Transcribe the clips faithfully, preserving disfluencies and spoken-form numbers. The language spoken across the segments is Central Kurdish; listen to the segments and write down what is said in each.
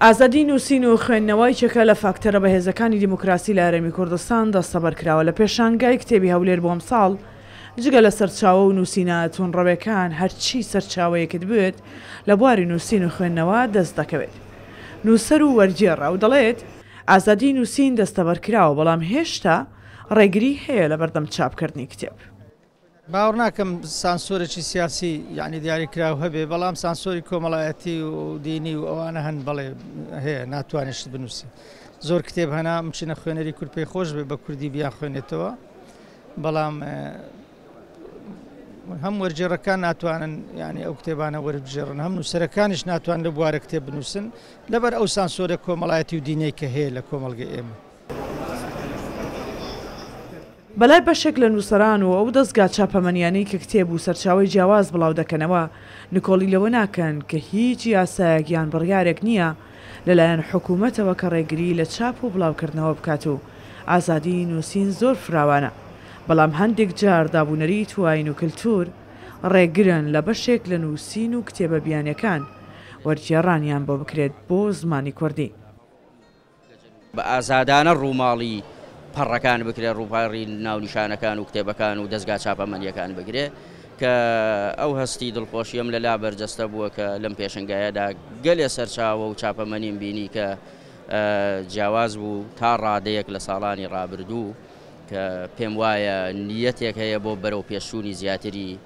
ئازادی نووسین و خوێندنەوە یەکێکە لە فاکتەرە بەهێزەکانی دیموکراسی لە هەرێمی کوردستان دەستەبەر کراوە. لە پێشانگای کتێبی هەولێر بۆ ئەمساڵ جگە لە سەرچاوە و نووسینە توندڕەوێکان هەرچی سەرچاوەیەکت بوێت لە بواری نووسین و خوێندنەوە دەست دەکەوێت. نووسەر و وەرگێڕە و دەڵێت ئازادی نووسین دەستەبەر کراوە، بەڵام هێشتا ڕێگری هەیە لە بەردەم چاپکردنی کتێب. باوەڕ ناکەم سانسۆرێکی سیاسی یعنی دیاریکراو هەبێ، بەڵام سانسۆری کۆمەڵایەتی و دینی و ئەوانە هەن، بەڵێ هەیە، ناتوانێت شت بنووسی. زۆر کتێب هەنا مچینە خوێنەری کورد پێی خۆش بێ بە کوردی بیان خوێنێتەوە، بەڵام هەم وەرگێڕەکان ناتوانن یعنی ئەو کتێبانە وەربگێڕن، هەم نووسەرەکانیش ناتوانن لە بوارە کتێب بنووسن لەبەر ئەو سانسۆرە کۆمەڵایەتی و دینەی کە هەیە لە کۆمەڵگەی ئێمە. بەلای بەشێک لە نووسەران و ئەو دەستگا چاپەمەنیانەی کە کتێب و سەرچاوەی جیاواز بڵاو دەکەنەوە نکۆڵی لەوە ناکەن کە هیچ یاسایەک یان بڕیارێک نییە لەلایەن حکوومەتەوە کە ڕێگری لە چاپ و بڵاوکردنەوە بکات و ئازادی نووسین زۆر فراوانە، بەڵام هەندێک جار دابوونەریت و ئاین و کللتور ڕێگرن لە بەشێک لە نووسین و کتێبە بیانیەکان وەرگێڕانیان بۆ بکرێت بۆ زمانی کوردی. بە ئازادانە ڕووماڵی پەڕەکان بکرێت، ڕووپاڕی ناونیشانەکان و کتێبەکان و دەستگا چاپەمەنیەکان بکرێت کە ئەو هەستی دڵخۆشیم لە لا بەرجەستە بووە کە لەم پێشنگایەدا گەلێ سەرچاوە و چاپەمەنیم بینی کە جیاواز بوو تا ڕادەیەک لە ساڵانی ڕابردوو کە پێم وایە نیەتێک هەیە بۆ بەرەو پێشچوونی زیاتری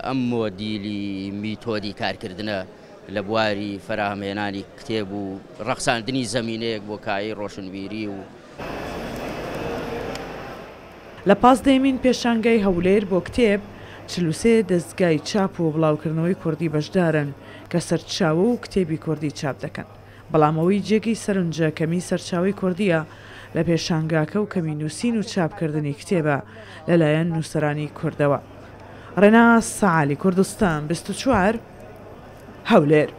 ئەم مۆدیلی میتۆدی کارکردنە لە بواری فەراهەمهێنانی کتێب و ڕەخساندنی زەمینەیەک بۆ کایی ڕۆشنبیری و لە پازدەیەمین پێشانگای هەولێر بۆ کتێب چل و سێ دەستگای چاپ و بڵاوکردنەوەی کوردی بەشدارن کە سەرچاوە و کتێبی کوردی چاپ دەکەن، بەڵام ئەوەی جێگەی سەرنجە کەمی سەرچاوەی کوردیە لە پێشانگاکە و کەمی نووسین و چاپکردنی کتێبە لەلایەن نووسەرانی کوردەوە. ڕێناس سەعالی، کوردستان بیست و چوار، هەولێر.